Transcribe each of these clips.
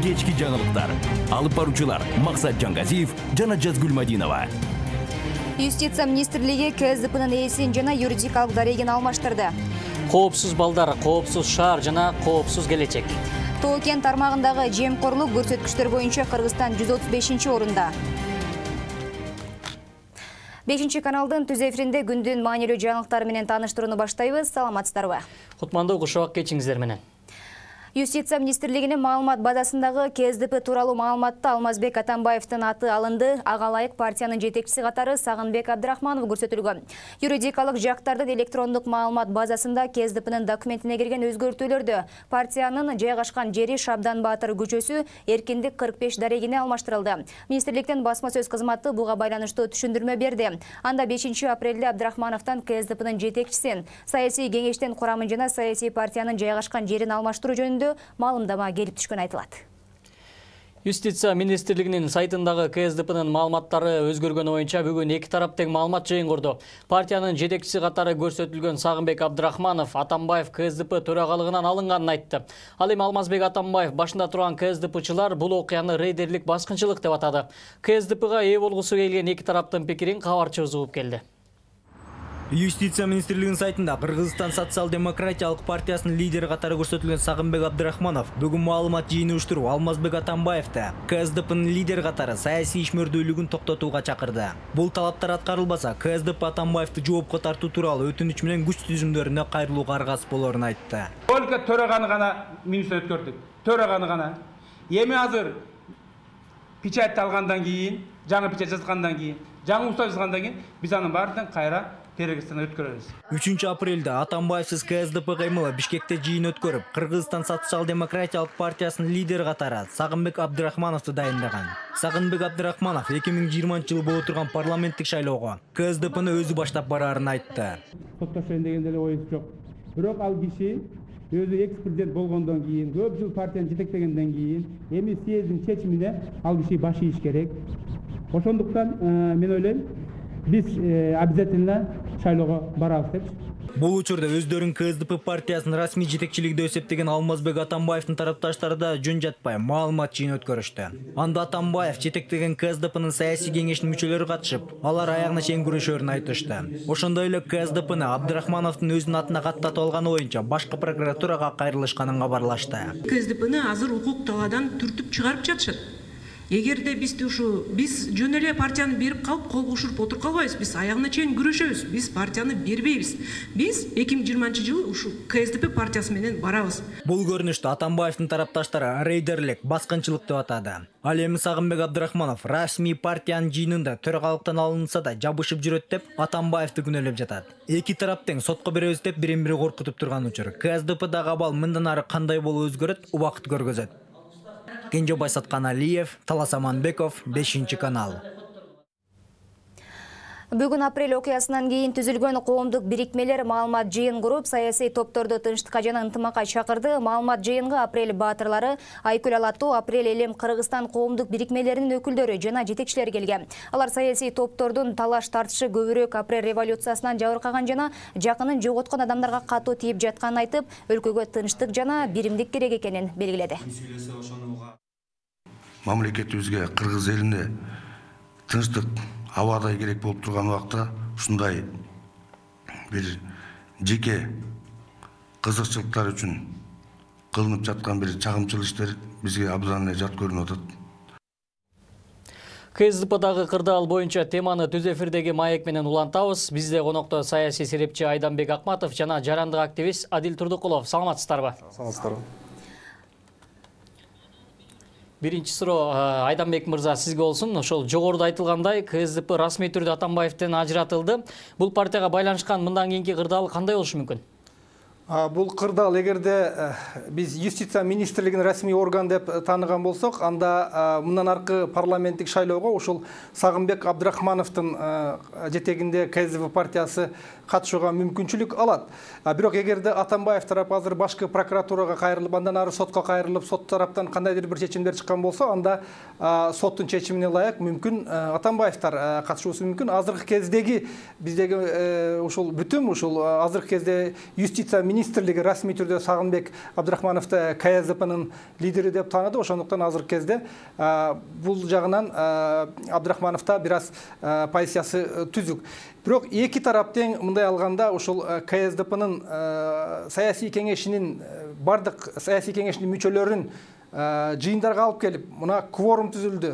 кечки жаңылыктар. Алып баруучулар Максат Жангазиев жана Жазгүл Мадинова. Юстиция министрлиги КСДПнын ээсин жана юридикалык дарегин алмаштырды. Коопсуз балдар, коопсуз шаар жана коопсуз келечек. Тоо-кен тармагындагы жемкорлук көрсөткүчтөр боюнча Кыргызстан 135-орунда. 5 каналдын түз эфиринде күндүн маанилүү жаңылыктары менен тааныштырууну баштайбыз. Саламатсыздарбы? Кутмандуу Кушабак кечиңиздер менен. Юстиция министрлигинин маалымат базасындагы КСДП тууралуу маалыматта Алмазбек Атамбаевдин аты алынды. Ага ылайык партиянын жетекчиси катары Сагынбек Абдрахманов көрсөтүлгөн. Юридикалык жактардын электрондук маалымат базасында КСДПнын документине кирген өзгөртүүлөрдө партиянын жайгашкан жери Шабдан Баатыр көчөсү Эркиндик 45 дарегине алмаштырылды. Министрликтин басма сөз кызматы буга байланыштуу түшүндүрмө берди. Анда 5 апрелде Абдрахмановдон КСДПнын жетекчисин, саясий кеңештин курамын жана саясий партиянын жайгашкан жерин алмаштыруу жөнүндө маалымдама келип түшкөн айтылат. Юстиция министрлигинин сайтындагы КСДПнын маалыматтары өзгөргөнү боюнча бүгүн эки тарап тең маалымат жыйын курду. Партиянын жетекчиси катары көрсөтүлгөн Сагынбек Абдрахманов Атамбаев КСДП төрагалыгынан алынганын айтты. Ал эми Алмазбек Атамбаев башында турган КСДПчылар бул окуяны рейдерлик баскынчылык деп атады. КСДПга ээ болгусу келген эки тараптын пикирин кабарчыбыз угуп келди. Юстиция министрлигинин сайтында Кыргызстан социал-демократиялык партиясынын лидери катары көрсөтүлгөн Сагынбек Абдрахманов бүгүн маалымат жыйыны уштуруп Алмазбек Атамбаевди КСДПнын лидери катары саясий ишмердүүлүгүн токтотууга чакырды. Бул талаптар аткарылбаса, КСДП Атамбаевди жоопко тартуу тууралуу өтүнүч менен күч түзүмдөрүнө кайрылууга аргасыз болорун айтты. Только төрөганы гана минусун өткөрдүк. Төрөганы гана. Эми азыр печать алгандан кийин, жаңы печать жазгандан кийин, жаңы устав жазгандан кийин биз анын баардыгын кайра 3 апрелде Атамбаевсиз КСДП каймылы Бишкекте жыйын өткөрүп, Кыргызстан социал-демократиялык партиясынын лидери катары Сагынбек Абдрахмановду дайындаган. Сагынбек Абдрахманов 2020-жылы боло турган парламенттик шайлоого КСДПны өзү баштап бараарын айтты. Соттошойн дегенде эле оюнчу жок. Бирок ал киши өзү экс-президент болгондон кийин, көп жыл партияны жетектегенден кийин, эми съездин чечимине ал киши баш ийиш керек. Ошондуктан мен ойлойм, биз обязательно шайлоого барабыз деп. Бул учурда өздөрүн КСДП партиясынын расмий жетекчилигинде эсептеген Алмазбек Атамбаевдин тарапташтары да жөн жатпай маалымат жыйын өткөрүштү. Анда Атамбаев жетектеген КСДПнын саясий кеңешинин мүчөлөрү катышып, алар аягына чейин күрөшөрүн айтышты. Ошондой эле КСДПны Абдрахмановдун өзүнүн атына каттатып алганы боюнча башкы прокуратурага кайрылышканын кабарлашты. КСДПны азыр укук талаадан түртүп чыгарып жатышат. Эгерде биз жөн эле партияны берип калып кол кушуруп отуруп калбайбыз, биз аягына чейин күрөшөбүз, биз партияны бербейбиз. Биз 2020-жылы ушу КСДП партиясы менен барабыз. Бул көрүнүштү Атамбаевдин тарапташтары рейдерлик, баскынчылык деп атады. Ал эми Сагынбек Абдрахманов расмий партиянын жыйынында төрагалыктан алынса да жабышып жүрөт деп Атамбаевди күнөөлөп жатат. Эки тарап тең сотко беребиз деп бири-бири коркутуп турган учур. КСДПдагы абал мындан ары кандай болуп өзгөрөт, убакыт көргөзөт. Кенжебай Сатканалиев, Талас Аманбеков, 5 канал. Бүгүн апрель окуясынан кийин түзүлгөн коомдук бирикмелер маалымат жыйын куруп, саясий топторду тынчтыкка жана ынтымакка чакырды. Маалымат жыйынга апрель баатырлары, Айкүл Алатуу, апрель элем Кыргызстан коомдук бирикмелеринин өкүлдөрү жана жетекчилери келген. Алар саясий топтордун талаш тартышы көбүрөөк апрель революциясынан жабыркаган жана жакынын жоготкон адамдарга катуу тийип жатканын айтып, өлкөгө тынчтык жана биримдик керек экенин белгиледи. Мамлекетибизге, Кыргыз элине тынчтык абадай керек болуп турган убакта ушундай бир жеке кызыкчылыктар үчүн кылынып жаткан бир чагымчыл иштер бизге абдан эле жат көрүнүп атат. КСДПдагы кырдаал боюнча теманы түз эфирдеги маек менен улантабыз. Бизде конокто саясий серепчи Айданбек Акматов жана жарандык активист Адил Турдукулов. Саламатсыздарбы? Саламатсыздарбы. Биринчи суроо Айданбек мырза сизге болсун. Ошол жогоруда айтылгандай КСДП расмий түрдө Атамбаевден ажыратылды. Бул партияга байланышкан мындан кийинки кырдаал кандай болушу мүмкүн? Бул кырдаал эгерде биз юстиция министрлигинин расмий орган деп тааныган болсок, анда мындан аркы парламенттик шайлоого ушул Сагынбек Абдрахмановдун жетегинде КСДП партиясы катышууга мүмкүнчүлүк алат. Бирок эгерде Атамбаев тарапы азыр башкы прокуратурага кайрылып, андан ары сотко кайрылып, сот тараптан кандайдыр бир чечимдер чыккан болсо, анда соттун чечимине ылайык мүмкүн Атамбаевтар катышуусу мүмкүн. Азыркы кездеги биздеги ушул бүтүм ушул азыркы кезде юстиция министрлиги расмий түрдө Сагынбек Абдрахмановду КСДПнын лидери деп тааныды. Ошондуктан азыркы кезде бул жагынан Абдрахмановда бир аз позициясы түзүк. Бирок эки тарап тең мындай алганда ушул КСДПнын саясий кеңешинин бардык саясий кеңешинин мүчөлөрүн жыйындарга алып келип, мына кворум түзүлдү.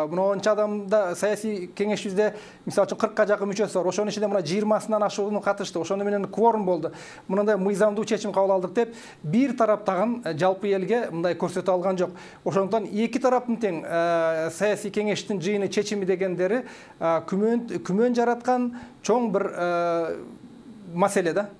Мына онча адамда саясий кеңешибизде мисалы үчүн 40ка жакын мүчөсү бар. Ошонун ичинде мына 20-сынан ашуunu катышты. Ошону менен кворум болду. Мындай мыйзамдуу чечим кабыл алдык деп, бир тарап тагын жалпы элге мындай көрсөтө алган жок. Ошондуктан эки тараптын тең саясий кеңештин жыйыны чечими дегендери күмөн жараткан чоң бир маселе да.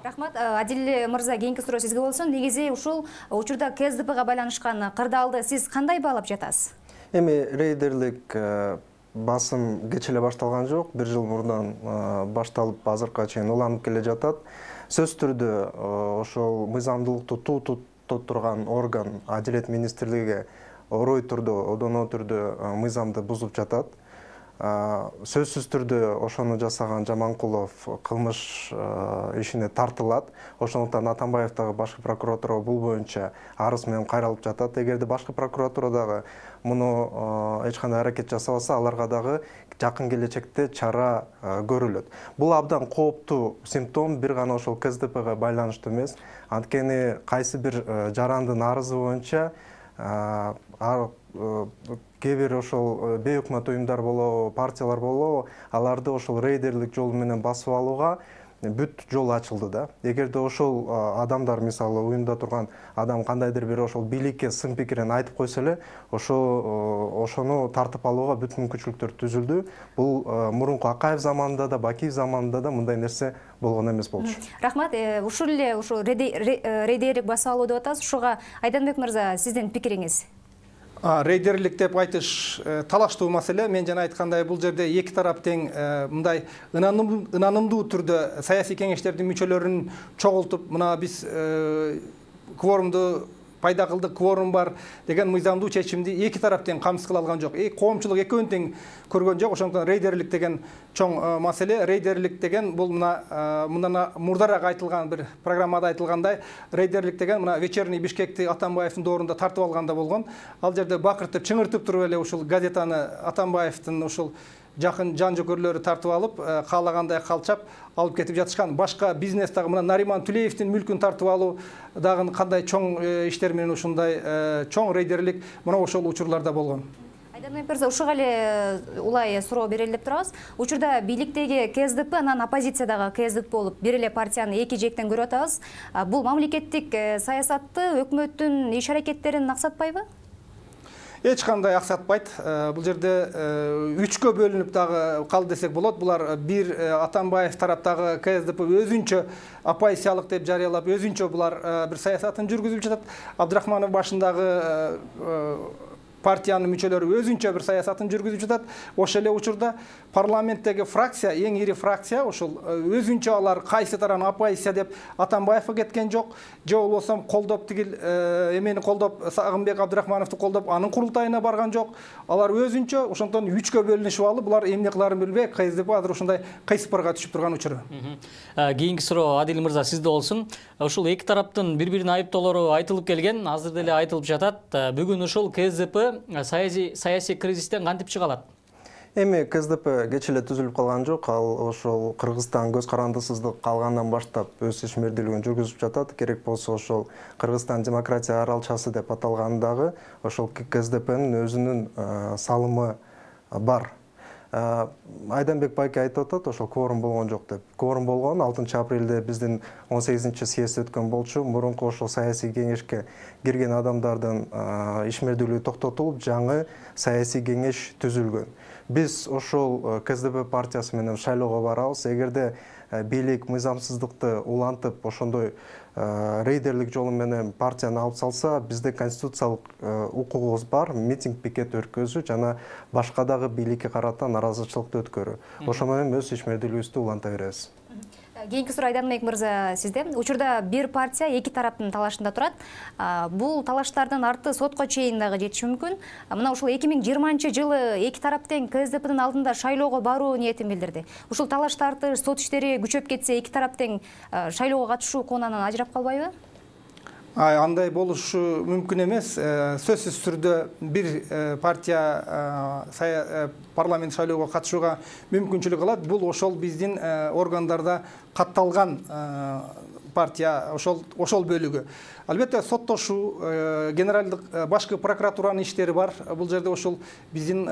Рахмат, Адил мырза, кийинки суроо сизге болсун. Негизи ушул учурда КСДПга байланышкан кырдаалды сиз кандай баалап жатасыз? Эми рейдерлик басым кеч эле башталган жок, 1 жыл мурдан башталып азыркыга чейин уланып келе жатат. Сөзсүз түрдө ошол мыйзамдуулукту туттуп турган орган Адилет министрлиги орой түрдө, одоно түрдө мыйзамды бузуп жатат. Сөзсүз түрдө ошону жасаган Жаманкулов кылмыш ишине тартылат. Ошондуктан Атамбаевдагы башкы прокуратура бул боюнча арыз менен кайрылып жатат. Эгерде башкы прокуратура дагы муну эч кандай аракет жасабаса, аларга дагы жакын келечекте чара көрүлөт. Бул абдан кооптуу симптом, бир гана ошол КСДПга байланыштуу эмес. Анткени кайсы бир жарандын арызы боюнча кээ бир ошол бейөкмөт уюмдар болобу, партиялар болобу, аларды ошол рейдерлик жол менен басып алууга бүт жол ачылды да. Эгерде ошол адамдар, мисалы уюмда турган адам кандайдыр бир ошол бийликке сын пикирин айтып койсо эле, ошону тартып алууга бүт мүмкүнчүлүктөр түзүлдү. Бул мурунку Акаев заманында да, Бакиев заманында да мындай нерсе болгон эмес болчу. Рахмат, ушул эле ушул рейдерлик басып алуу деп атасыз. Ушуга Айданбек мырза, сиздин пикириңиз? Рейдерлик деп айтыш талаштуу маселе. Мен жана айткандай, бул жерде эки тарап тең мындай ынанымдуу түрдө саясий кеңештердин мүчөлөрүн чогултуп, мына биз кворумду пайда кылдык, кворум бар деген мыйзамдуу чечимди эки тарап тең камсыз кыла алган жок. Коомчулук экөөнүн тең көргөн жок. Ошондуктан рейдерлик деген чоң маселе. Рейдерлик деген бул мына мурдараак айтылган бир программада айтылгандай, рейдерлик деген мына вечерний Бишкекти Атамбаевдин доорунда тартып алганда болгон. Ал жерде бакыртып, чыңыртып туруп эле ушул газетаны Атамбаевдин ушул жакын жан жөкөрлөрү тартып алып, каалагандай калчап алып кетип жатышкан. Башка бизнес дагы мына Нариман Түлеевдин мүлкүн тартып алуу дагы кандай чоң иштер менен ушундай чоң рейдерлик мына ошол учурларда болгон. Айданбек мырза, ушуга эле улай суроо берели деп турабыз. Учурда бийликтеги КСДП, анан оппозициядагы КСДП болуп бир эле партияны эки жектен көрүп атабыз. Бул мамлекеттик саясатты, өкмөттүн иш аракеттерин аксатпайбы? Эч кандай аксатпайт. Бул жерде үчкө бөлүнүп дагы калды десек болот. Булар бир Атамбаев тараптагы КСДП өзүнчө оппозициялык деп жарыялап, өзүнчө булар бир саясатын жүргүзүп жатат. Абдрахманов башындагы партиянын мүчөлөрү өзүнчө бир саясатын жүргүзүп жатат. Ошол эле учурда парламенттеги фракция, эң ири фракция, ошол өзүнчө алар кайсы таран оппозиция деп Атамбаевга кеткен жок, же болбосо колдоп тигил эмени колдоп Сагынбек Абдрахмановду колдоп анын курултайына барган жок. Алар өзүнчө ошондон үчкө бөлүнүшүп алып, булар эмне кыларын билбей, КСДП азыр ушундай кыйсыпырга түшүп турган учуру. Кийинки суроо Адил мырза сизде болсун. Ушул эки тараптын бири-бирин айыптоолору айтылып келген, азыр деле айтылып жатат. Бүгүн ушул КСДП саясий кризистен кантип чыга алат? Эми КСДП кеч эле түзүлүп калган жок. Ал ошол Кыргызстан көз карандысыздык калгандан баштап өз ишмердүүлүгүн жүргүзүп жатат. Керек болсо ошол Кыргызстан демократия аралчасы деп аталгандагы ошол КСДПнын өзүнүн салымы бар. Айданбек байке айтып атат, ошол кворум болгон жок деп. Кворум болгон 6 апрелде биздин 18-съезд өткөн болчу. Мурунку ошол саясий кеңешке кирген адамдардын ишмердүүлүгү токтотулуп, жаңы саясий кеңеш түзүлгөн. Биз ошол КСДП партиясы менен шайлоого барабыз. Эгерде бийлик мыйзамсыздыкты улантып, ошондой рейдерлик жолу менен партияны алып салса, бизде конституциялык укугубуз бар, митинг, пикет өткөзүү жана башка дагы бийликке карата нааразычылыкты өткөрүү. Ошо менен өз ишмердүүлүгүбүздү уланта беребиз. Кийинки суроо Айданбек мырза сизде. Учурда бир партия эки тараптын талашында турат. Бул талаштардын арты сотко чейин дагы жетиши мүмкүн. Мына ушул 2020-жылы эки тарап тең КСДПнын алдында шайлоого баруу ниетин билдирди. Ушул талаш тартыш, сот иштери күчөп кетсе, эки тарап тең шайлоого катышуу конунан ажырап калбайбы? Андай болушу мүмкүн эмес. Сөзсүз түрдө бир партия парламент шайлоого катышууга мүмкүнчүлүк алат. Бул ошол биздин органдарда катталган партия ошол бөлүгү. Албетте соттошуу, генералдык башкы прокуратуранын иштери бар. Бул жерде ошол биздин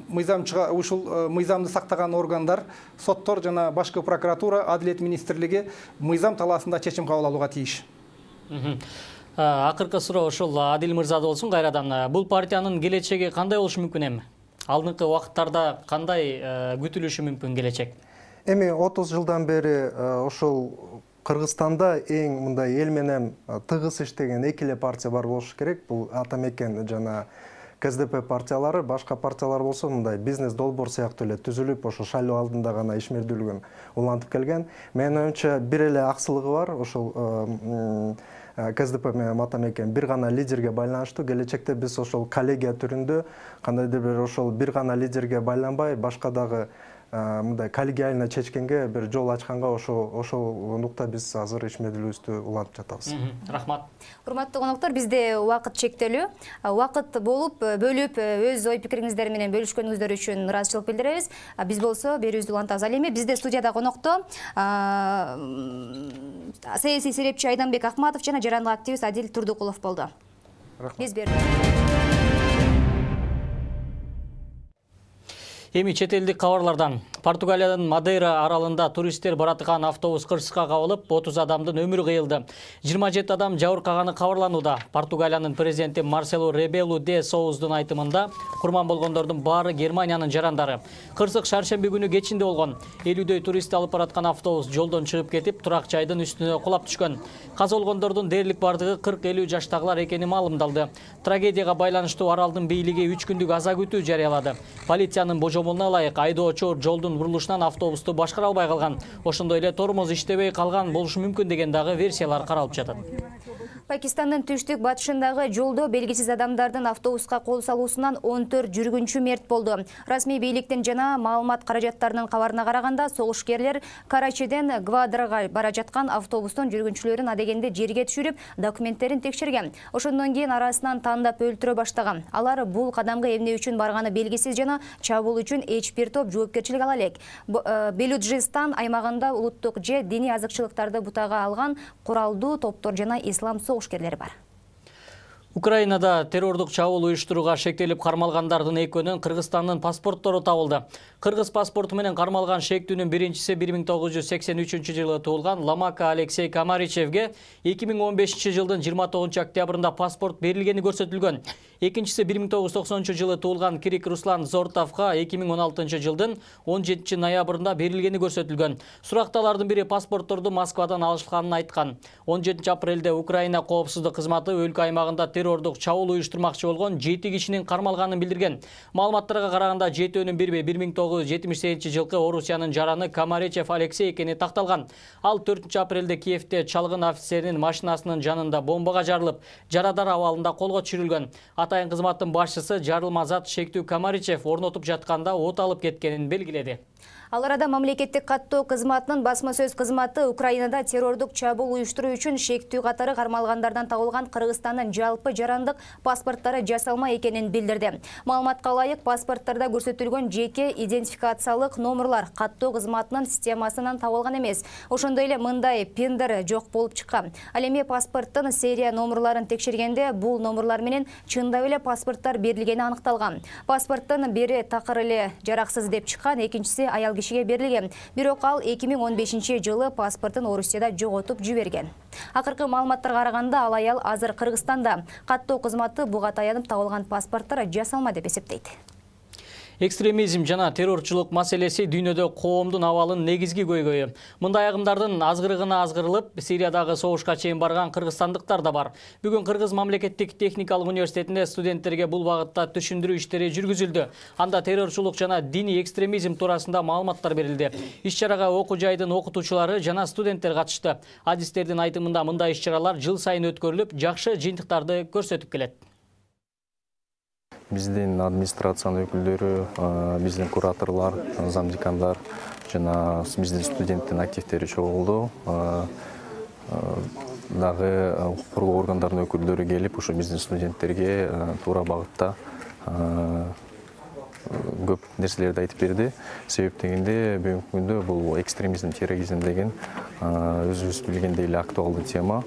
мыйзамды сактаган органдар, соттор жана башкы прокуратура, Адилет министрлиги мыйзам талаасында чечим кабыл алууга тийиш. Акыркы суроо ошол Адил мырзада болсун кайрадан. Бул партиянын келечеги кандай болушу мүмкүн эми? Алдыңкы убакыттарда кандай күтүлүшү мүмкүн келечек? Эми 30 жылдан бери ошол Кыргызстанда эң мындай эл менен тыгыз иштеген эки эле партия бар болушу керек. Бул Атамекен жана КСДП партиялары, башка партиялар болсо мындай бизнес долбоор сыяктуу эле түзүлүп, ошо шайлоо алдында гана ишмердүүлүгүн улантып келген. Менин оюмча бир эле аксылыгы бар, ошол КСДП менен Атамекен бир гана лидерге байланыштуу. Келечекте биз ошол коллегия түрүндө кандайдыр бир ошол бир гана лидерге байланбай, башка дагы мындай коллегиально чечкенге бир жол ачканга ошол нукта биз азыр ишмердүүлүгүбүздү улантып жатабыз. Рахмат. Урматтуу коноктор, бизде убакыт чектелүү. Убакыт болуп, бөлүп өз ой пикириңиздер менен бөлүшкөнүңүздөр үчүн ыраазычылык билдиребиз. Биз болсо берүүбүздү улантабыз. Ал эми бизде студияда конокто саясий серепчи Айданбек Акматов жана жарандык активист Адил Турдукулов болду. Биз Эми чет элдик кабарлардан. Португалиянын Мадейра аралында туристтер баратыган автобус кырсыкка кабылып, 30 адамдын өмүрү кыйылды. 27 адам жабыркаганы кабарланууда. Португалиянын президенти Марселу Ребелу де Соуздун айтымында курман болгондордун баары Германиянын жарандары. Кырсык шаршемби күнү кечинде болгон. 50дөй турист алып бараткан автобус жолдон чыгып кетип, турак жайдын үстүнө кулап түшкөн. Каза болгондордун дээрлик бардыгы 40-50 жаштагылар экени маалымдалды. Трагедияга байланыштуу аралдын бийлиги 3 күндүк аза күтүү жарыялады. Полициянын божомолуна ылайык айдоочу жолдун бурулушунан автобусту башкара албай калган. Ошондой эле тормоз иштебей калган болушу мүмкүн деген дагы версиялар каралып жатат. Пакистандын түштүк батышындагы жолдо белгисиз адамдардын автобуска кол салуусунан 14 жүргүнчү мерт болду. Расмий бийликтин жана маалымат каражаттарынын кабарына караганда, согушкерлер Карачиден Гвадрага бара жаткан автобустун жүргүнчүлөрүн адегенде жерге түшүрүп, документтерин текшерген. Ошондон кийин арасынан тандап өлтүрө баштаган. Алар бул кадамга эмне үчүн барганы белгисиз жана чабуул үчүн эч бир топ жоопкерчилик ала элек. Белуджистан аймагында улуттук же диний азыкчылыктарды бутага алган куралдуу топтор жана ислам согушкерлери бар. Украинада террордук чабуул уюштурууга шектелип кармалгандардын экөөнүн Кыргызстандын паспорттору табылды. Кыргыз паспорту менен кармалган шектүүнүн биринчиси 1983-жылы туулган Ламака Алексей Камаричевге 2015-жылдын 29 октябрында паспорт берилгени көрсөтүлгөн. Экинчиси 1990-жылы туулган Кирик Руслан Зортовго 2016-жылдын 17 ноябрында берилгени көрсөтүлгөн. Суракталардын бири паспортторду Москвадан алышканын айткан. 17 апрелде Украина коопсуздук кызматы өлкө аймагында террордук чабуул уюштурмакчы болгон 7 кишинин кармалганын билдирген. Маалыматтарга караганда жетөөнүн бири 1978-жылкы Орусиянын жараны Камаричев Алексей экени такталган. Ал 4 апрелде Киевде чалгын офицеринин машинасынын жанында бомбага жарылып, жарадар абалында колго түшүрүлгөн. Атайын кызматтын башчысы жарылма зат шектүү Камаричев орнотуп жатканда от алып кеткенин белгиледи. Ал арада мамлекеттик каттоо кызматынын басма сөз кызматы Украинада террордук чабуул уюштуруу үчүн шектүү катары кармалгандардан табылган Кыргызстандын жалпы жарандык паспорттары жасалма экенин билдирди. Маалыматка ылайык, паспорттарда көрсөтүлгөн жеке идентификациялык номерлар каттоо кызматынын системасынан табылган эмес. Ошондой эле мындай пиндер жок болуп чыккан. Ал эми паспорттун серия номерларын текшергенде бул номерлар менен чындап эле паспорттар берилгени аныкталган. Паспорттун бири такыр эле жараксыз деп чыккан, экинчиси аял кишиге берилген. Бирок ал 2015-жылы паспортун Орусияда жоготуп жиберген. Акыркы маалыматтарга караганда ал аял азыр Кыргызстанда. Каттоо кызматы буга таянып табылган паспорттар жасалма деп эсептейт. Экстремизм жана террорчулук маселеси дүйнөдө коомдун абалын негизги көйгөйү. Мындай агымдардын азгырыгына азгырылып, Сириядагы согушка чейин барган кыргызстандыктар да бар. Бүгүн Кыргыз мамлекеттик техникалык университетинде студенттерге бул багытта түшүндүрүү иштери жүргүзүлдү. Анда террорчулук жана диний экстремизм туурасында маалыматтар берилди. Иш-чарага окуу жайдын окутуучулары жана студенттер катышты. Адистердин айтымында мындай иш-чаралар жыл сайын өткөрүлүп, жакшы жыйынтыктарды көрсөтүп келет. Биздин администрациянын өкүлдөрү, биздин кураторлор, замдекандар жана биздин студенттин активдери чогулду. Дагы укук коргоо органдарынын өкүлдөрү келип, ошо биздин студенттерге туура багытта көп нерселерди айтып берди. Себеп дегенде бүгүнкү күндө бул экстремизм, терроризм деген өзүбүз билгендей эле актуалдуу тема.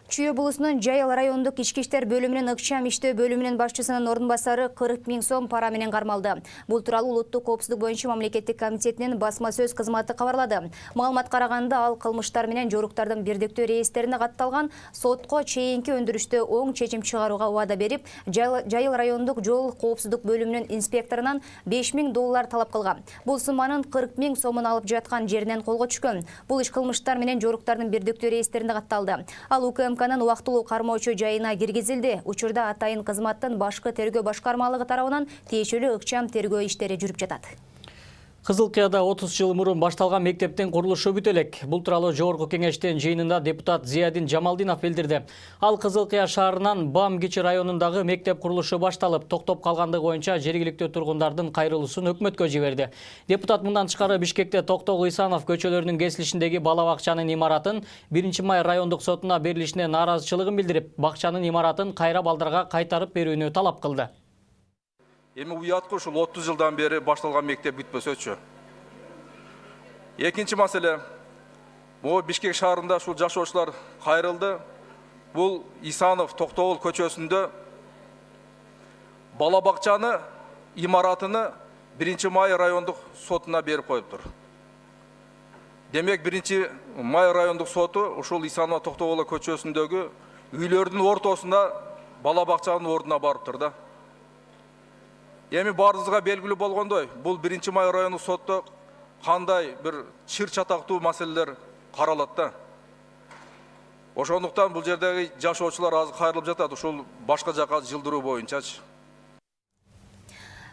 Чүй облусунун Жайыл райондук ички иштер бөлүмүнүн ыкчам иштөө бөлүмүнүн башчысынын ордун басары 40 000 сом пара менен кармалды. Бул тууралуу Улуттук коопсуздук боюнча мамлекеттик комитетинин басма сөз кызматы кабарлады. Маалымат караганда ал кылмыштар менен жоруктардын бирдиктүү реестрине катталган сотко чейинки өндүрүштө оң чечим чыгарууга убада берип, Жайыл райондук жол коопсуздук бөлүмүнүн инспекторунан $5000 талап кылган. Бул сумманын 40 000 сомун алып жаткан жеринен колго түшкөн. Бул иш кылмыштар менен жоруктардын бирдиктүү реестрине катталды. Ал УКМКнын убактылуу кармоочу жайына киргизилди. Учурда атайын кызматтын башкы тергөө башкармалыгы тарабынан тиешелүү ыкчам тергөө иштери жүрүп жатат. Кызылкыяда 30 жыл мурун башталган мектептин курулушу бүтө элек. Бул тууралуу жогорку кеңештин жыйынында депутат Зиядин Жамалдинов билдирди. Ал Кызылкыя шаарынан Бам Кичи районундагы мектеп курулушу башталып, токтоп калгандыгы боюнча жергиликтүү тургундардын кайрылуусун өкмөткө жиберди. Депутат мындан тышкары Бишкекте Токтогул Исанов көчөлөрүнүн кесилишиндеги бала бакчанын имаратын 1-май райондук сотуна берилишине нааразычылыгын билдирип, бакчанын имаратын кайра балдарга кайтарып берүүнү талап кылды. Эми уятка ушул 30 жылдан бери башталган мектеп бүтпөсөчү. Экинчи маселе, могу Бишкек шаарында ушул жашоочулар кайрылды. Бул Исанов Токтогул көчөсүндө бала бакчаны имаратыны 1-май райондук сотуна берип коюптур. Демек 1-май райондук соту ушул Исанов Токтогул көчөсүндөгү үйлөрдүн ортосунда бала бакчанын ордуна барыптыр да. Эми баарыбызга белгилүү болгондой, бул 1-май райондук сотто кандай бир чыр чатактуу маселелер каралат да. Ошондуктан бул жердеги жашоочулар азыр кайрылып жатат, ушул башка жака жылдыруу боюнчачы.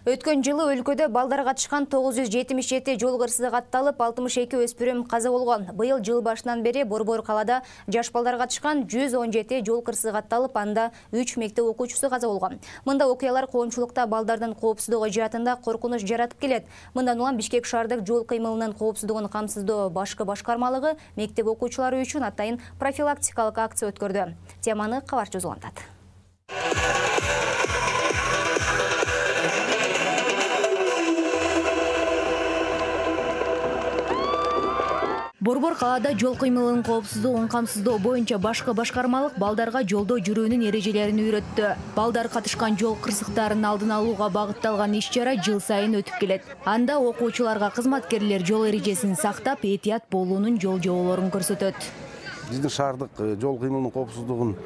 Өткөн жылы өлкөдө балдар катышкан 977 жол кырсыгы катталып, 62 өспүрүм каза болгон. Быйыл жыл башынан бери Борбор калада жаш балдар катышкан 117 жол кырсыгы катталып, анда 3 мектеп окуучусу каза болгон. Мында окуялар коомчулукта балдардын коопсуздугу жаатында коркунуч жаратып келет. Мындан улам Бишкек шаардык жол кыймылынын коопсуздугун камсыздоо башкы башкармалыгы мектеп окуучулары үчүн атайын профилактикалык акция өткөрдү. Теманы кабарчы улантат. Борбор калаада жол кыймылынын коопсуздугун камсыздоо боюнча башкы башкармалык балдарга жолдо жүрүүнүн эрежелерин үйрөттү. Балдар катышкан жол кырсыктарын алдын алууга багытталган иш-чара жыл сайын өтүп келет. Анда окуучуларга кызматкерлер жол эрежесин сактап, этият болуунун жол жоболорун көрсөтөт. Биздин шаардык жол кыймылынын коопсуздугун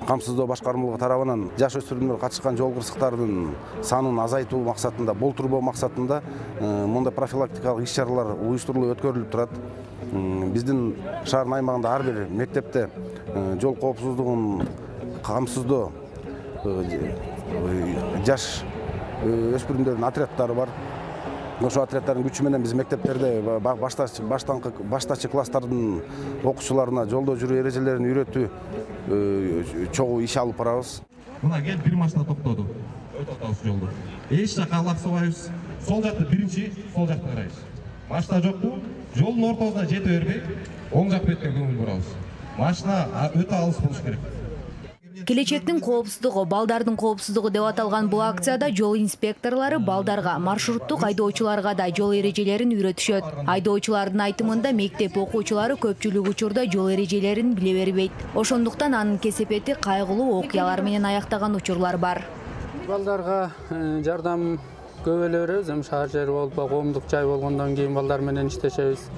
камсыздоо башкармалыгы тарабынан жаш өспүрүмдөр катышкан жол кырсыктардын санын азайтуу максатында, болтурбоо максатында мындай профилактикалык иш-чаралар уюштурулуп өткөрүлүп турат. Биздин шаардын аймагында ар бир мектепте жол коопсуздугун камсыздоо жаш өспүрүмдөрдүн отряддары бар. Ошо отряддардын күчү менен биз мектептерде баштачы класстардын окуучуларына жолдо жүрүү эрежелерин үйрөтүү чогуу иш алып барабыз. Мына кел бир машина токтоду. Токтотабыз жолду. Эч жака алаксыбайбыз. Сол жакты биринчи, сол жакты карайбыз. Машина жокпу? Жолдун ортосуна жете бербей, оң жак бетке көңүл бурабыз. Машина өтө алыс болуш керек. Келечектин коопсуздугу, балдардын коопсуздугу деп аталган бул акцияда жол инспекторлору балдарга, маршруттук айдоочуларга да жол эрежелерин үйрөтүшөт. Айдоочулардын айтымында мектеп окуучулары көпчүлүк учурда жол эрежелерин биле бербейт. Ошондуктан анын кесепети кайгылуу окуялар менен аяктаган учурлар бар. Балдарга жардам көп эле беребиз. Эми шаар жери болуп, коомдук жай болгондон кийин балдар менен иштешебиз.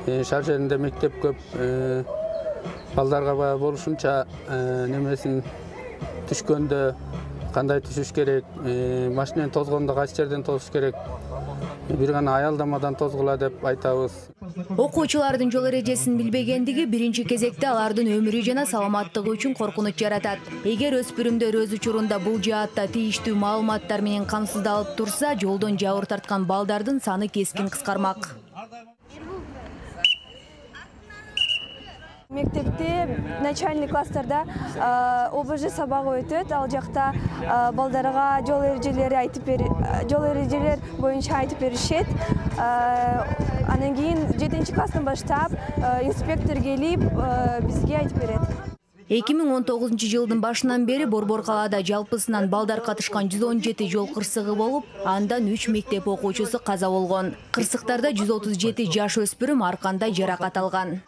Шаар жеринде мектеп көп. Балдарга болушунча немесин түшкөндө кандай түшүш керек, машинени тозгондо кайсы жерден тосуш керек, бир гана аялдамадан тозгула деп айтабыз. Окуучулардын жол эрежесин билбегендиги биринчи кезекте алардын өмүрү жана саламаттыгы үчүн коркунуч жаратат. Эгер өспүрүмдөр өз учурунда бул жаатта тийиштүү маалыматтар менен камсыздалып турса, жолдон жабыр тарткан балдардын саны кескин кыскармак. Мектепте начальный класстарда ОБЖ сабагы өтөт. Ал жакта балдарга жол эрежелер боюнча айтып беришет. Анан кийин 7-класстан баштап инспектор келип бизге айтып берет. 2019 жылдын башынан бери Борбор калаада жалпысынан балдар катышкан 117 жол кырсыгы болуп, андан 3 мектеп окуучусу каза болгон. Кырсыктарда 137 жаш өспүрүм ар кандай жаракат алган.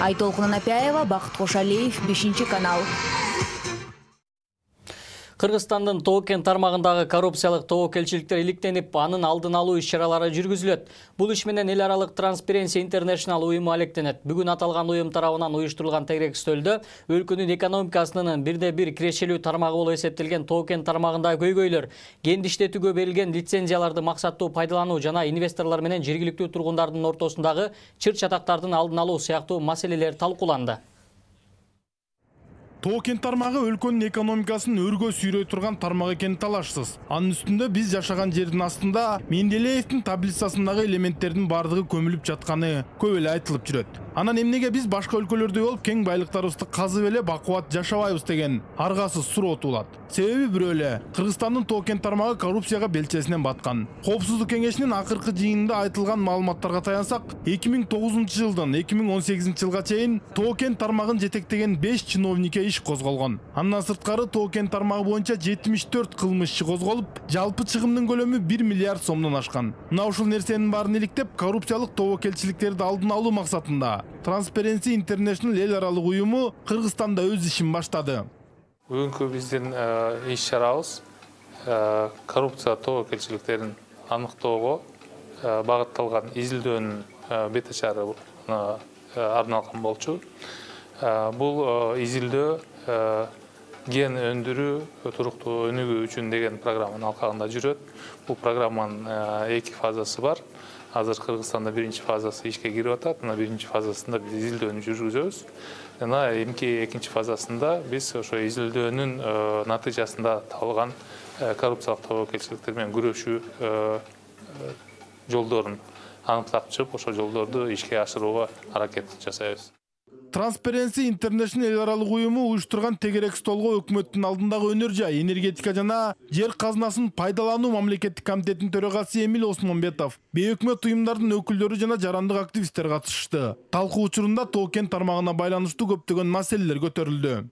Айтолкун Анапяева, Бакыт Кошалиев, 5-канал. Кыргызстандын Тоо-Кен тармагындагы коррупциялык тобокелчиликтер иликтенип, анын алдын алуу иш-чаралары жүргүзүлөт. Бул иш менен эл аралык Transparency International уюму алектенет. Бүгүн аталган уюм тарабынан уюштурулган тегерек стөлдө өлкөнүн экономикасынын бирде-бир кирешелүү тармагы болуп эсептелген Тоо-Кен тармагындагы көйгөйлөр, кенди иштетүүгө берилген лицензияларды максаттуу пайдалануу жана инвесторлор менен жергиликтүү тургундардын ортосундагы чыр-чатактардын алдын алуу сыяктуу маселелер талкууланды. Тоо-Кен тармагы өлкөнүн экономикасын өргө сүйрөй турган тармак экени талашсыз. Анын үстүндө биз жашаган жердин астында Менделеевдин таблицасындагы элементтердин бардыгы көмүлүп жатканы көп эле айтылып жүрөт. Анан эмнеге биз башка өлкөлөрдөй болуп кең байлыктарыбызды казып эле бакубат жашабайбыз деген аргасыз суроо туулат. Себеби бирөө эле, Кыргызстандын Тоо-Кен тармагы коррупцияга белчесинен баткан. Коопсуздук кеңешинин акыркы жыйынында айтылган маалыматтарга таянсак, 2009 жылдан 2018 жылга чейин Тоо-Кен тармагын жетектеген 5 чиновникке иш козголгон. Андан сырткары Тоо-Кен тармагы боюнча 74 кылмыш иши козголуп, жалпы чыгымдын көлөмү 1 миллиард сомдон ашкан. Мына ушул нерсенин баарын иликтеп, коррупциялык тобокелчиликтерди алдын алуу максатында Transparency International эл аралык уюму Кыргызстанда өз ишин баштады. Бүгүнкү биздин иш-чарабыз коррупция тобокелчиликтерин аныктоого багытталган изилдөөнүн бет ачарына арналган болчу. Бул изилдөө ген өндүрүү туруктуу өнүгүү үчүн деген программанын алкагында жүрөт. Бул программанын 2 фазасы бар. Азыр Кыргызстанда 1-чи фазасы ишке кирип атат. Мына 1-чи фазасында биз изилдөөнү жүргүзөбүз. Жана 2-чи фазасында биз ошо изилдөөнүн натыйжасында табылган коррупциялык тобокелчиликтер менен күрөшүү жолдорун аныктап чыгып, ошол жолдорду ишке ашырууга аракет жасайбыз. Transparency International эл аралык уюму уюштурган тегерек столго өкмөттүн алдындагы өнөр жай, энергетика жана жер казынасын пайдалануу мамлекеттик комитетинин төрагасы Эмил Осмонбетов, бейөкмөт уюмдардын өкүлдөрү жана жарандык активисттер катышты. Талкуу учурунда Тоо-Кен тармагына байланыштуу көптөгөн маселелер көтөрүлдү.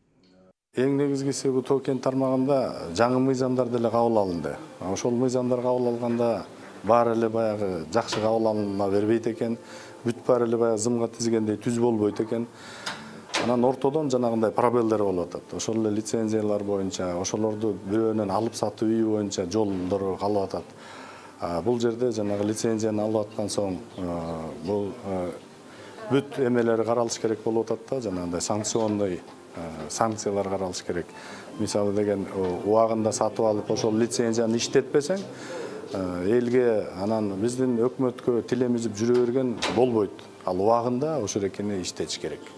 Эң негизгиси бул Тоо-Кен тармагында жаңы мыйзамдар деле кабыл алынды. Ошол мыйзамдар кабыл алганда баары эле баягы жакшы кабыл алына бербейт экен. Бүт баары эле баягы зымга тизгендей түз болбойт экен. Анан ортодон жанагындай пробелдер болуп атат. Ошол эле лицензиялар боюнча, ошолорду бирөөнөн алып сатуу үйү боюнча жолдор калып атат. Бул жерде жанагы лицензияны алып аткан соң бул бүт эмелери каралыш керек болуп атат да, жанагындай санкционный санкциялар каралыш керек. Мисалы деген убагында сатып алып ошол лицензияны иштетпесең, элге анан биздин өкмөткө тилемизип жүрө берген болбойт. Ал убагында ошол экени иштетиш керек.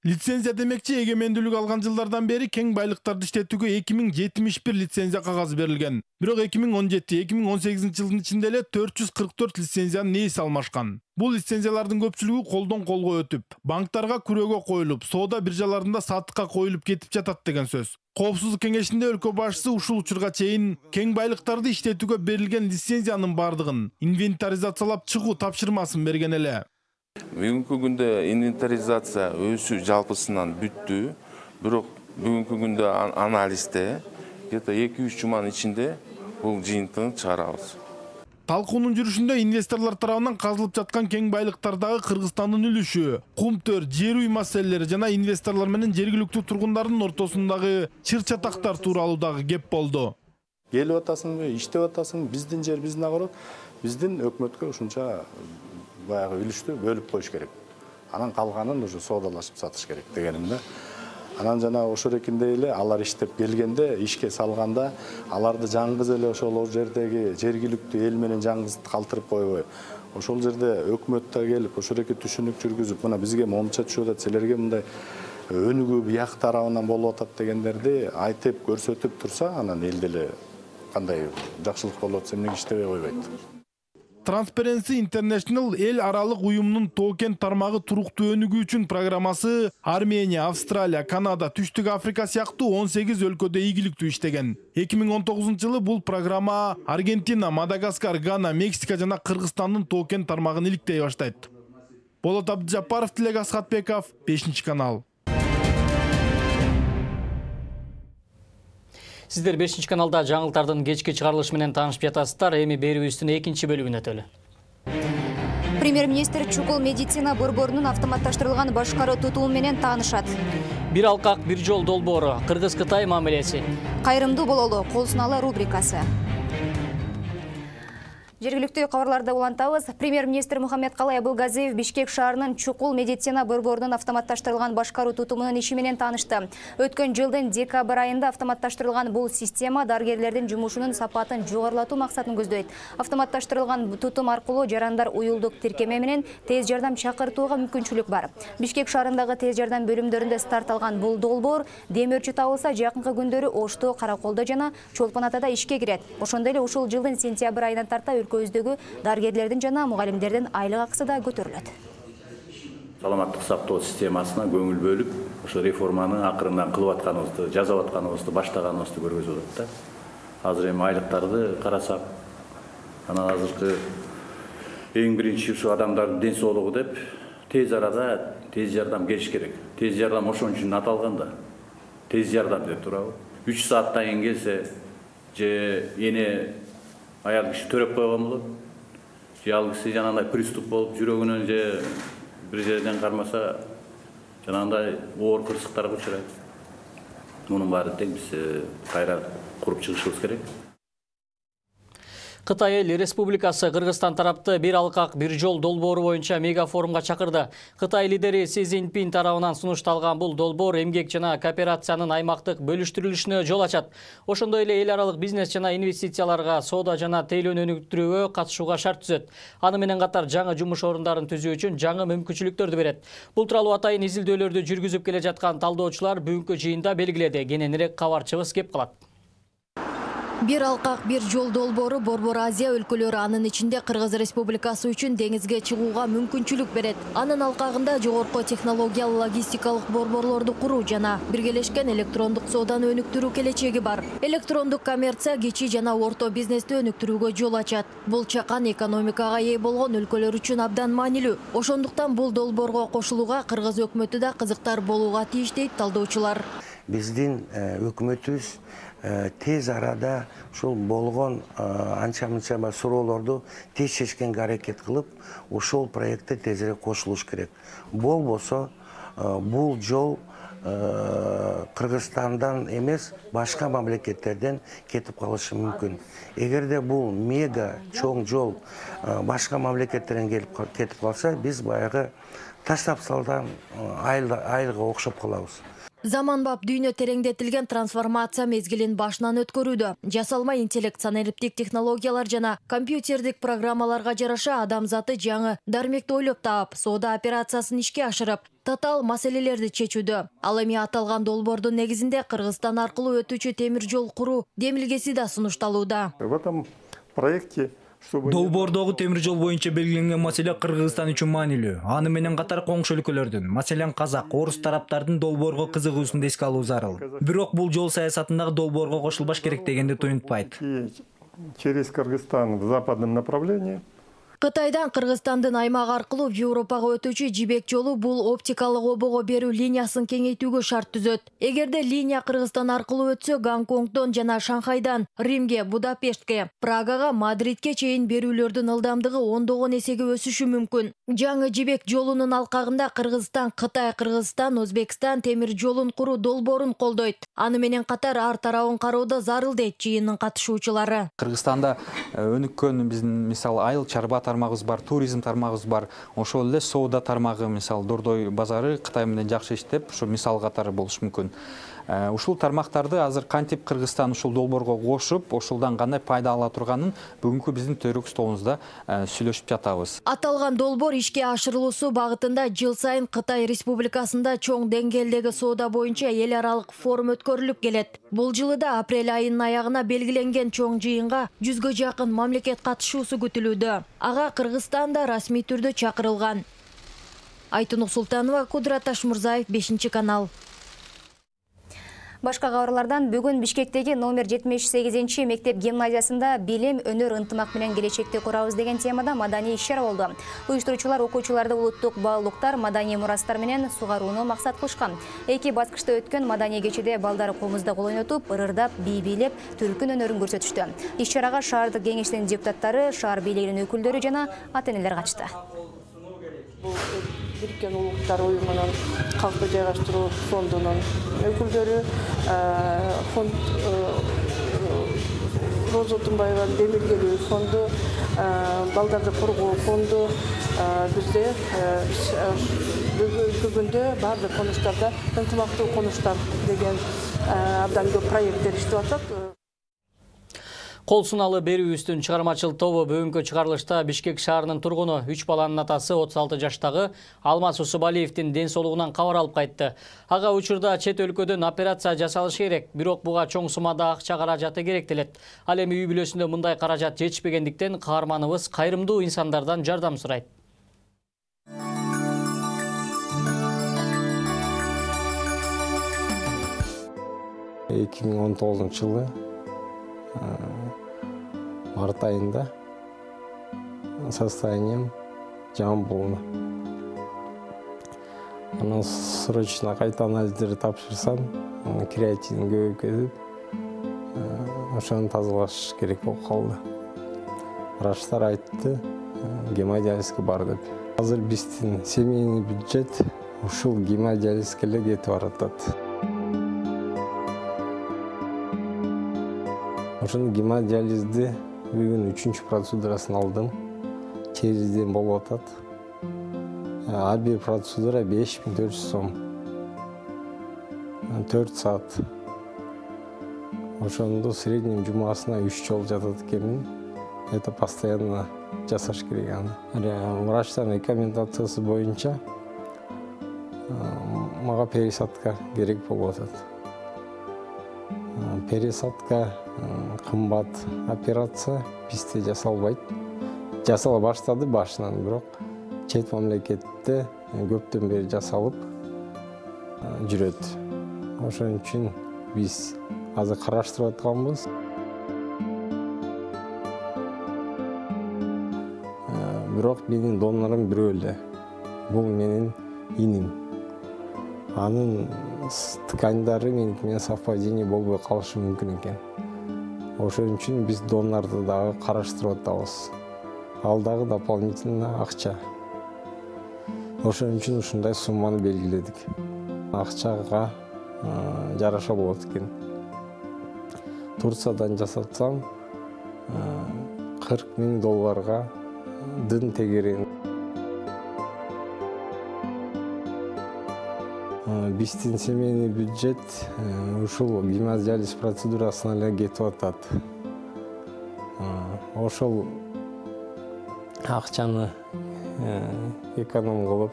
Лицензия демекчи эгемендүүлүк алган жылдардан бери кең байлыктарды иштетүүгө 2071 лицензия кагазы берилген. Бирок 2017-2018 жылдын ичинде эле 444 лицензиянын ээси алмашкан. Бул лицензиялардын көпчүлүгү колдон колго өтүп, банктарга күрөөгө коюлуп, соода биржаларында сатыкка коюлуп кетип жатат деген сөз. Коопсуздук кеңешинде өлкө башчысы ушул учурга чейин кең байлыктарды иштетүүгө берилген лицензиянын бардыгын инвентаризациялап чыгуу тапшырмасын берген эле. Бүгүнкү күндө инвентаризация өсү жалпысынан бүттү. Бирок бүгүнкү күндө анализде где-то 2-3 жуманын ичинде бул жыйынтыгын чыгарабыз. Талкуунун жүрүшүндө инвесторлор тарабынан казылып жаткан кең байлыктардагы Кыргызстандын үлүшү, кум-төр, жер үй маселелери жана инвесторлор менен жергиликтүү тургундардын ортосундагы чыр-чатактар тууралуу дагы кеп болду. Келип атасыңбы, иштеп атасың, биздин жер биздин огород, биздин өкмөткө ушунча баягы үлүштү бөлүп коюш керек. Анан калганын уже соодалашып сатыш керек дегеним да. Анан жана ошол экиндей эле алар иштеп келгенде, ишке салганда аларды жаңгыз эле ошол жердеги жергиликтүү эл менен жаңгыз калтырып койбой, ошол жерде өкмөт да келип ошол эки түшүнүк жүргүзүп, мына бизге момунча түшүп атат, силерге мындай өнүгүү бияк тарабынан болуп атат дегендерди айтып көрсөтүп турса, анан эл деле кандай жакшылык болуп атса эмнеге иштебей койбойт. Transparency International эл аралык уюмунун токен тармагы туруктуу өнүгүү үчүн программасы Армения, Австралия, Канада, Түштүк Африка сыяктуу 18 өлкөдө ийгиликтүү иштеген. 2019-жылы бул программа Аргентина, Мадагаскар, Гана, Мексика жана Кыргызстандын токен тармагын иликтей баштайт. Болот Абдыжаппаров, Тилек Асхатбеков, 5-канал. Сиздер 5-каналда жаңылыктардын кечки чыгарылышы менен таанышып жатасыздар. Эми берүүбүздүн 2-бөлүгүнө өтөлү. Премьер-министр чукул медицина борборунун автоматташтырылган башкаруу тутуму менен таанышат. Бир алкак, бир жол долбоору, Кыргыз-Кытай мамилеси. Кайрымдуу бололу, кол сунаалы рубрикасы. Жергиликтүү кабарларды улантабыз. Премьер-министр Мухаммедкалый Абылгазиев Бишкек шаарынын чукул медицина борборунун автоматташтырылган башкаруу тутумунун иши менен таанышты. Өткөн жылдын декабрь айында автоматташтырылган бул система дарыгерлердин жумушунун сапатын жогорулатуу максатын көздөйт. Автоматташтырылган тутум аркылуу жарандар уюлдук тиркеме менен тез жардам чакыртууга мүмкүнчүлүк бар. Бишкек шаарындагы тез жардам бөлүмдөрүндө старт алган бул долбоор дем өрчү табылса жакынкы күндөрү Ошто, Караколдо жана Чолпон Атада ишке кирет. Ошондой эле ушул жылдын сентябрь айынан тарта көздөгү дарыгерлердин жана мугалимдердин айлык акысы да көтөрүлөт. Саламаттык сактоо системасына көңүл бөлүп, ошо реформаны акырындан кылып атканыбызды, жасап атканыбызды, баштаганыбызды көргөзүп атат да. Азыр эми айлыктарды карасак, анан азыркы эң биринчи ушу адамдардын ден соолугу деп тез арада тез жардам келиш керек. Тез жардам ошон үчүн аталган да. Тез жардам деп турабы. 3 сааттан кийин келсе, же эне аял киши төрөп койгон болот. Же ал киши жанагындай приступ болуп жүрөгүнөн же бир жерден кармаса жанагындай оор кырсыктарга учурайт. Мунун баары тең биз кайра куруп чыгышыбыз керек. Кытай Эл Республикасы Кыргызстан тарапты бир алкак, бир жол долбоору боюнча мегафорумга чакырды. Кытай лидери Си Цзиньпин тарабынан сунушталган бул долбоор эмгек жана кооперациянын аймактык бөлүштүрүлүшүнө жол ачат. Ошондой эле эл аралык бизнес жана инвестицияларга, соода жана тейлөөнү өнүктүрүүгө катышууга шарт түзөт. Аны менен катар жаңы жумуш орундарын түзүү үчүн жаңы мүмкүнчүлүктөрдү берет. Бул тууралуу атайын изилдөөлөрдү жүргүзүп келе жаткан талдоочулар бүгүнкү жыйында белгиледи. Кененирээк кабарчыбыз кеп калат. Бир алкак, бир жол долбоору Борбор Азия өлкөлөрү, анын ичинде Кыргыз Республикасы үчүн деңизге чыгууга мүмкүнчүлүк берет. Анын алкагында жогорку технологиялуу логистикалык борборлорду куруу жана биргелешкен электрондук сооданы өнүктүрүү келечеги бар. Электрондук коммерция кичи жана орто бизнести өнүктүрүүгө жол ачат. Бул чакан экономикага ээ болгон өлкөлөр үчүн абдан маанилүү. Ошондуктан бул долбоорго кошулууга Кыргыз өкмөтү да кызыктар болууга тийиш дейт талдоочулар. Биздин өкмөтүбүз тез арада ушул болгон анча-мынча суроолорду тез чечкенге аракет кылып, ушул проектте тезирээк кошулуш керек. Болбосо бул жол Кыргызстандан эмес, башка мамлекеттерден кетип калышы мүмкүн. Эгерде бул мега чоң жол башка мамлекеттерден кетип калса, биз баягы таштап салган айылга окшоп калабыз. Заманбап дүйнө тереңдетилген трансформация мезгилин башынан өткөрүүдө. Жасалма интеллект, санариптик технологиялар жана компьютердик программаларга жараша адамзаты жаңы дармекти ойлоп таап, соода операциясын ишке ашырып, татаал маселелерди чечүүдө. Ал эми аталган долбоордун негизинде Кыргызстан аркылуу өтүүчү темир жол куруу демилгеси да сунушталууда. В этом проекте Долбоордогу темир жол боюнча белгиленген маселе Кыргызстан үчүн маанилүү. Аны менен катар коңшу өлкөлөрдүн, маселен казак, орус тараптардын долбоорго кызыгуусун эске алуу зарыл. Бирок бул жол саясатындагы долбоорго кошулбаш керек дегенди туюнтпайт. Через Кыргызстан в западном направлении. Кытайдан Кыргызстандын аймак аркылуу Европага өтүүчү жибек жолу бул оптикалык обого берүү линиясын кеңейтүүгө шарт түзөт. Эгерде линия Кыргызстан аркылуу өтсө, Гонконгдон жана Шанхайдан Римге, Будапештке, Прагага, Мадридке чейин берүүлөрдүн ылдамдыгы ондогон эсеге өсүшү мүмкүн. Жаңы жибек жолунун алкагында Кыргызстан, Кытай, Кыргызстан, Өзбекстан темир жолун куруу долбоорун колдойт. Аны менен катар ар тарабын кароодо зарыл дейт жыйындын катышуучулары. Кыргызстанда өнүккөн биздин мисалы айыл чарбата тармагыбыз бар, туризм тармагыбыз бар. Ошол эле соода тармагы, мисалы Дордой базары Кытай менен жакшы иштеп, ошо мисал катары болуш мүмкүн. Ушул тармактарды азыр кантип Кыргызстан ушул долбоорго кошуп, ошолдан кандай пайда ала турганын бүгүнкү биздин төрүк столубузда сүйлөшүп жатабыз. Аталган долбоор ишке ашырылуусу багытында жыл сайын Кытай Республикасында чоң деңгээлдеги соода боюнча эл аралык форум өткөрүлүп келет. Бул жылы да апрель айынын аягына белгиленген чоң жыйынга 100гө жакын мамлекет катышуусу күтүлүүдө. Ага Кыргызстан да расмий түрдө чакырылган. Айтунук Султанова, Кудрат Ташмурзаев, 5 канал. Башка кабарлардан бүгүн Бишкектеги номер 78 мектеп гимназиясында билим, өнөр, ынтымак менен келечекти курабыз деген темада маданий иш-чара болду. Уюштуруучулар окуучуларды улуттук баалуулуктар, маданий мурастар менен сугарууну максат кылышкан. Эки баскычта өткөн маданий кечеде балдар комузда кол ойнотуп, ырырдап, бий бийлеп, түркүн өнөрүн көрсөтүштү. Иш-чарага шаардык кеңештин депутаттары, шаар бийлигинин өкүлдөрү жана ата-энелер катышты. Бириккен Улуттар уюмунун калкты жайгаштыруу фондунун өкүлдөрү, фонд Роза Отунбаеванын демилгелүү фонду, балдарды коргоо фонду бизде бүгүндө баардык конуштарда ынтымактуу конуштар деген абдан көп проекттер иштеп атат. Кол сунаалы берүүбүздүн чыгармачыл тобу бүгүнкү чыгарылышта Бишкек шаарынын тургуну 3 баланын атасы 36 жаштагы Алмаз Усубалиевдин ден соолугунан кабар алып кайтты. Ага учурда чет өлкөдөн операция жасалышы керек, бирок буга чоң суммада акча каражаты керек делет. Ал эми үй бүлөсүндө мындай каражат жетишпегендиктен каарманыбыз кайрымдуу инсандардан жардам сурайт. 2019 март айында состоянием жаман болду. Анан срочно кайта анализдерди тапшырсам, креатин көбөйүп кетип, ошону тазалаш керек болуп калды. Врачтар айтты, гемодиализге бар деп. Азыр биздин семейный бюджет ушул гемодиализге эле кетип баратат. Ошону гемодиализди бүгүн 3-чү процедурасын алдым. Териден болуп атат. Ар бир процедура 5400 сом. 4 саат. Ошондо среднем жумасына 3 жолу жатат экенмин. Это постоянно жасаш керек аны. Врачтардын рекомендациясы боюнча мага пересадка керек болуп атат. Пересадка кымбат операция, бизде жасалбайт. Жасала баштады башынан, бирок чет мамлекетте көптөн бери жасалып жүрөт. Ошон үчүн биз азыр караштырып атканбыз. Бирок менин донорум бирөө эле. Бул менин иним. Анын ткандары менен совпадение болбой калышы мүмкүн экен. Ошон үчүн биз донорду дагы караштырып атабыз. Ал дагы дополнительно акча. Ошон үчүн ушундай сумманы белгиледик. Акчага жараша болот экен. Турциядан жасатсам $40,000 дын тегерен. Биздин семейный бюджет ушул гемодиализ процедурасына эле кетип атат. Ошол акчаны эконом кылып,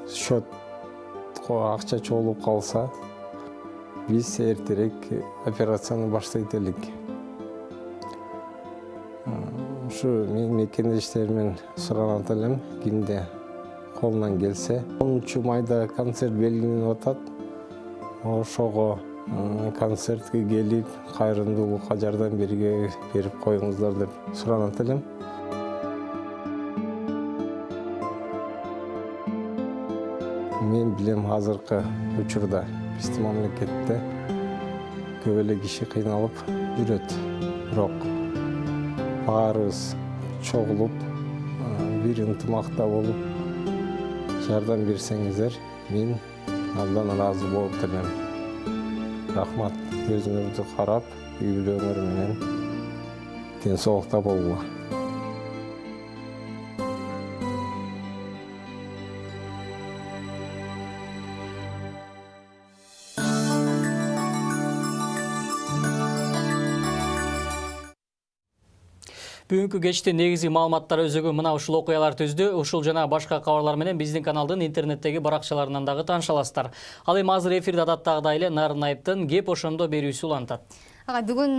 счетко акча чогулуп калса, биз эртерээк операцияны баштайт элек. Ушу мен мекендештеримен суранат элем, кимде колунан келсе. 10 майда концерт белгиленип атат. Ошого концертке келип, кайрымдуулукка жардам берип коюңуздар деп суранат элем. Мен билем азыркы учурда биздин мамлекетте көп эле киши кыйналып жүрөт. Бирок баарыбыз чогулуп, бир ынтымакта болуп жардам берсеңиздер, мен абдан ыраазы болуп элем. Рахмат, өзүңөрдү карап, үй бүлөңөр менен ден соолукта болгула. Бүгүнкү кечте негизги маалыматтар өзөгү мына ушул окуялар түздү. Ушул жана башка кабарлар менен биздин каналдын интернеттеги баракчаларынан дагы тааныша аласыздар. Ал эми азыр эфирде адаттагыдай эле Нарын Айыптын кеп ошондо берүүсү улантат. Ага, бүгүн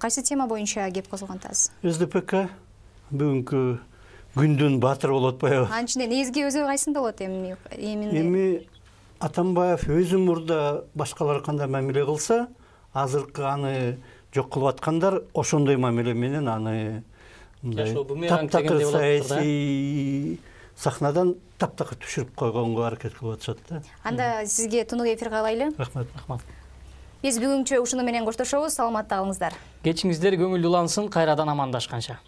кайсы тема боюнча кеп козголгон атасыз? СДПК бүгүнкү күндүн баатыры болуп атпайбы? Анын ичинде негизги өзөгү кайсында болот Эми Атамбаев өзү мурда башкалар кандай мамиле кылса, азыркы аны жок кылып аткандар ошондой мамиле менен аны таптакыр саясий сахнадан таптакыр түшүрүп койгонго аракет кылып атышат да. Анда сизге тунук эфир каалайлы. Рахмат. Биз бүгүнчө ушуну менен коштошобуз. Саламатта калыңыздар. Кечиңиздер көңүлдүү улансын, кайрадан амандашканча.